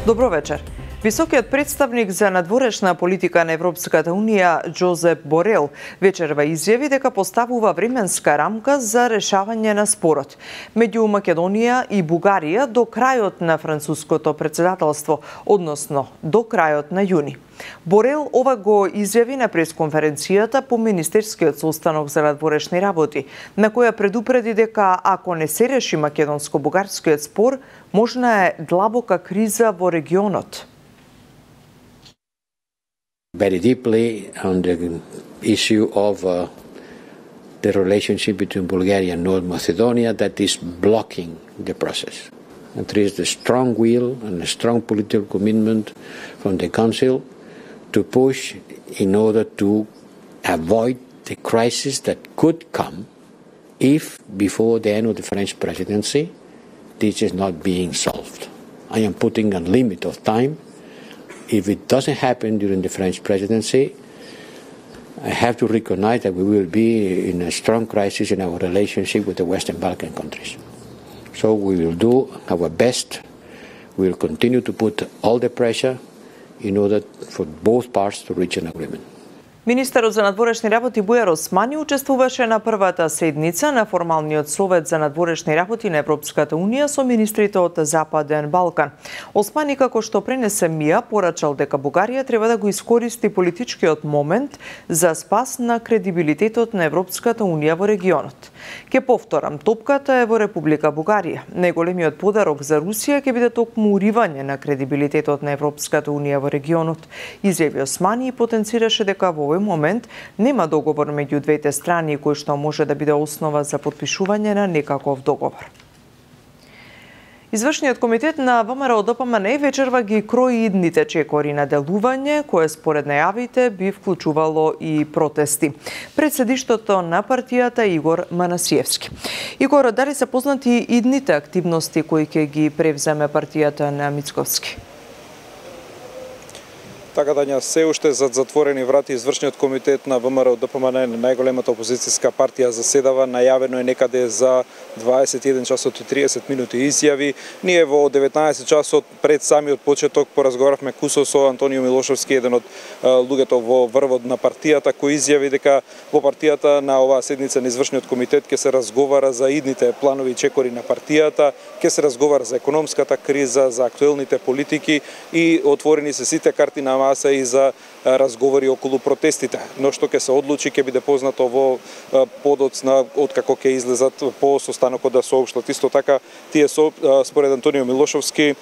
Добро вечер. Високиот представник за надворешна политика на Европската Унија Джозеп Борел вечерва изјави дека поставува временска рамка за решавање на спорот меѓу Македонија и Бугарија до крајот на француското претседателство, односно до крајот на јуни. Борел ова го изјави на пресконференцијата по Министерскиот состанок за надворешни работи, на која предупреди дека ако не се реши македонско-бугарскиот спор, можна е длабока криза во регионот. Very deeply on the issue of the relationship between Bulgaria and North Macedonia that is blocking the process. And there is the strong will and a strong political commitment from the Council to push in order to avoid the crisis that could come if, before the end of the French presidency, this is not being solved. I am putting a limit of time. If it doesn't happen during the French presidency, I have to recognize that we will be in a strong crisis in our relationship with the Western Balkan countries. So we will do our best. We will continue to put all the pressure in order for both parts to reach an agreement. Министерот за надворешни работи Бујар Османи учествуваше на првата седница на формалниот совет за надворешни работи на Европската Унија со министрите од Западен Балкан. Османи, како што пренесе МИА, порачал дека Бугарија треба да го искористи политичкиот момент за спас на кредибилитетот на Европската Унија во регионот. Ке повторам, топката е во Република Бугарија. Најголемиот подарок за Русија ќе биде токму уривање на кредибилитетот на Европската Унија во регионот. Изјави Османи и потенцираше дека во овој момент нема договор меѓу двете страни кој што може да биде основа за потпишување на некаков договор. Извршниот комитет на ВМРО-ДПМН вечерва ги крои идните чекори на делување, кое според најавите би вклучувало и протести. Председиштото на партијата Игор Манасиевски. Игор, дали се познати идните активности кои ќе ги превземе партијата на Мицковски? Така да се уште зад затворени врати извршниот комитет на ВМРО-ДПМН, најголемата опозицијска партија, заседава. Најавено е некаде за 21 часот и 30 минути изјави. Ние во 19 часот пред самиот почеток поразговаравме кусо со Антонио Милошовски, еден од луѓето во врвот на партијата, кој изјави дека во партијата на оваа седница на извршниот комитет ќе се разговара за идните планови и чекори на партијата, ќе се разговара за економската криза, за актуелните политики и отворени се сите карти на маса и за разговори околу протестите. Но што ќе се одлучи ќе биде познато во подоцна откако ќе излезат по состанокот да соопштат. Исто така, тие според Антонио Милошовски,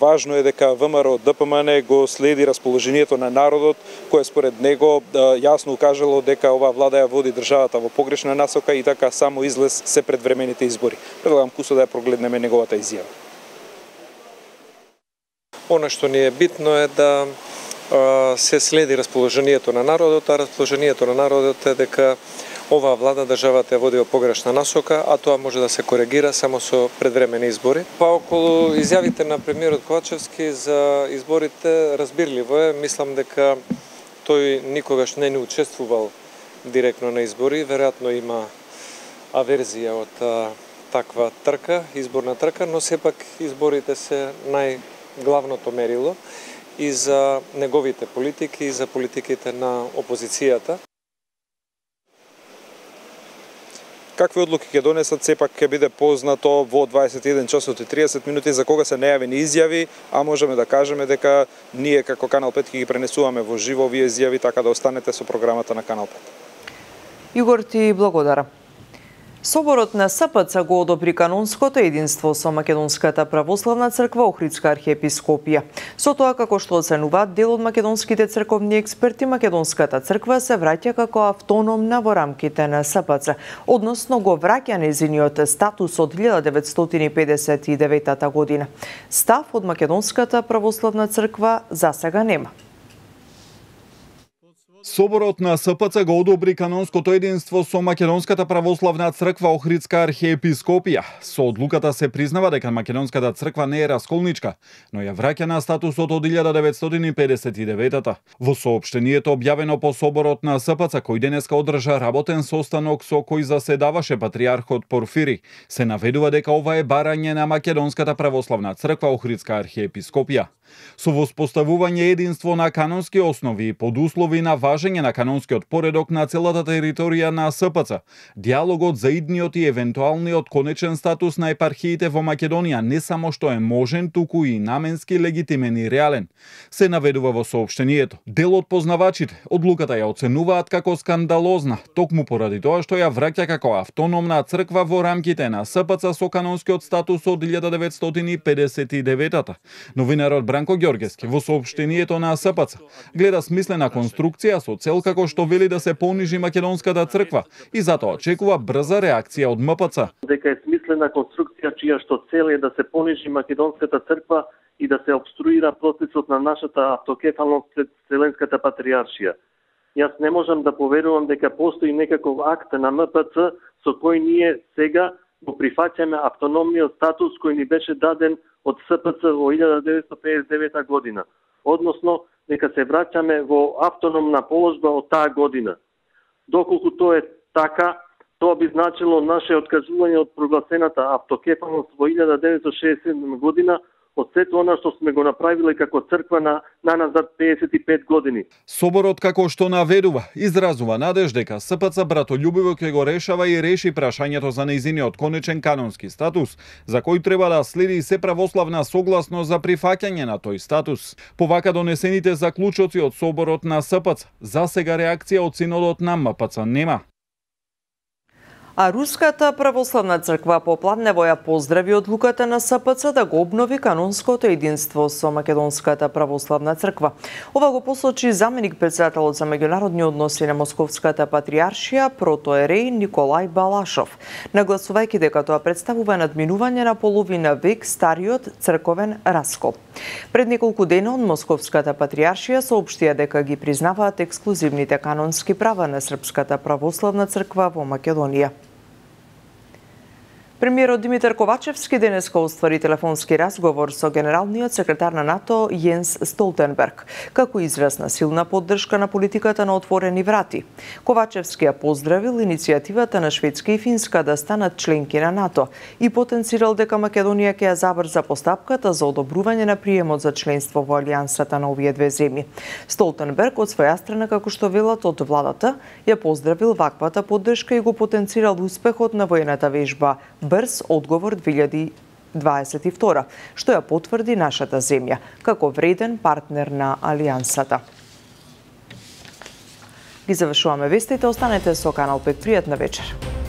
важно е дека ВМРО-ДПМН го следи расположението на народот, кое според него јасно укажало дека оваа влада ја води државата во погрешна насока и така само излез се предвремените избори. Предлагам кусо да ја прогледнеме неговата изјава. Она што ни е битно е да се следи расположението на народот, а расположението на народот е дека оваа влада државата ја води во погрешна насока, а тоа може да се коригира само со предвремени избори. Па околу изјавите на премиерот Ковачевски за изборите, разбирливо е, мислам дека тој никогаш не учествувал директно на избори, веројатно има аверзија од таква трка, изборна трка, но сепак изборите се најглавното мерило и за неговите политики, и за политиките на опозицијата. Какви одлуки ќе донесат, сепак ќе биде познато во 21 часот и 30 минути, за кога се најавени изјави, а можеме да кажеме дека ние како Канал 5 ќе ги пренесуваме во живо овие изјави, така да останете со програмата на Канал 5. Игор, ти благодарам. Соборот на СПЦ го одобри канонското единство со Македонската православна црква Охридска архиепископија. Со тоа, како што оценуваат дел од македонските црковни експерти, Македонската црква се враќа како автономна во рамките на СПЦ, односно го враќа нејзиниот статус од 1959 година. Став од Македонската православна црква засега нема. Соборот на СПЦ го одобри канонското единство со Македонската православна црква Охридска архиепископија. Со одлуката се признава дека Македонската црква не е расколничка, но ја враќа на статусот од 1959-та. Во соопштението објавено по соборот на СПЦ, кој денеска одржа работен состанок со кој заседаваше патриархот Порфири, се наведува дека ова е барање на Македонската православна црква Охридска архиепископија. Со воспоставување единство на канонски основи и под услови на важење на канонскиот поредок на целата територија на СПЦ, диалогот за идниот и евентуалниот конечен статус на епархиите во Македонија не само што е можен, туку и наменски, легитимен и реален, се наведува во соопштението. Дел од познавачите одлуката ја оценуваат како скандалозна, токму поради тоа што ја враќа како автономна црква во рамките на СПЦ со канонскиот статус од 1959-та. Новинарот Бранко Ѓоргевски во соопштението на СПЦ гледа смислена конструкција со цел како што вели да се понижи македонската црква и затоа очекува брза реакција од МПЦ. Дека е смислена конструкција чија што цел е да се понижи македонската црква и да се обструира процесот на нашата автокефалност пред Вселенската патриаршија. Јас не можам да поверувам дека постои некаков акт на МПЦ со кој ние сега го прифаќаме автономниот статус кој ни беше даден од СПЦ во 1959 година. Односно, дека се враќаме во автономна положба од таа година. Доколку тоа е така, тоа би значило наше откажување од прогласената автокефалност во 1967 година од сето она што сме го направиле како црква на назад 55 години. Соборот, како што наведува, изразува надеж дека СПЦ братолюбиво ќе го решава и реши прашањето за нејзиниот конечен канонски статус, за кој треба да следи се православна согласност за прифаќање на тој статус. Повака донесените заклучоци од соборот на СПЦ, за сега реакција од синодот на МПЦ нема. А Руската православна црква попладнево ја поздрави одлуката на СПЦ да го обнови канонското единство со Македонската православна црква. Ова го посочи заменик претседателот за меѓународни односи на Московската патриаршија протоерей Николај Балашов, нагласувајќи дека тоа представува надминување на половина век стариот црковен раскол. Пред неколку дена од Московската патриаршија соопштија дека ги признаваат ексклузивните канонски права на Српската православна црква во Македонија. Премиерот Димитар Ковачевски денеска оствари телефонски разговор со генералниот секретар на НАТО Јенс Столтенберг, како израз на силна поддршка на политиката на отворени врати. Ковачевски ја поздравил иницијативата на Шведска и Финска да станат членки на НАТО и потенцирал дека Македонија ќе ја забрза постапката за одобрување на приемот за членство во алијансата на овие две земји. Столтенберг од своја страна, како што велат од владата, ја поздравил ваквата поддршка и го потенцирал успехот на воената вежба Брз одговор 2022, што ја потврди нашата земја како вреден партнер на алијансата. Ги завршуваме вестите, останете со Канал 5. Пријатна вечер.